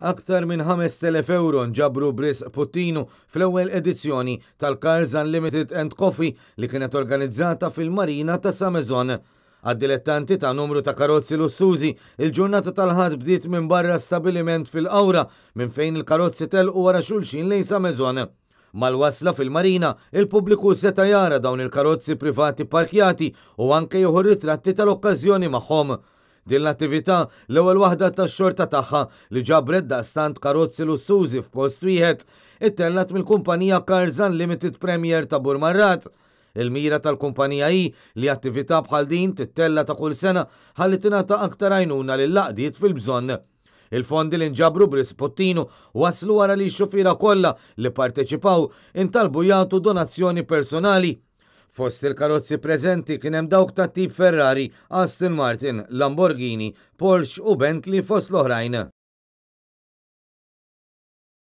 Aktar minn 5,000 ewro nġabru b'risq Puttinu fl-ewwel edizzjoni tal-Cars Unlimited and Coffee li kienet organizzata fil-Marina ta' Sa Maison. Għad-dilettanti ta' numru ta' karozzi lussużi, il-ġurnata tal-Ħadd bdiet minn barra stabiliment fil-Qawra minn fejn il-karozzi telqu wara xulxin lejn Sa Maison. Mal-wasla fil-Marina, il-pubbliku seta' jara dawn il-karozzi privati pparkjati u anke jieħu ritratti tal-okkażjoni magħhom. Din l-attività, l-ewwel waħda tax-xorta tagħha li ġabret daqstant karozzi lussużi f'post wieħed, ittellgħet mill-kumpanija Cars Unlimited Premier ta' Burmarrad. Il-mira tal-kumpanija hi li attività bħal din tittella' ta' kull sena ħalli tingħata aktar għajnuna lill-għaqdiet fil-bżonn. Il-fondi li nġabru b'risq Puttinu waslu wara li x-xufiera kollha li pparteċipaw intalbu jagħtu donazzjoni personali. Fost il-karozzi preżenti kien hemm dawk tat-tip Ferrari, Aston Martin, Lamborghini, Porsche u Bentley fost l-oħrajn.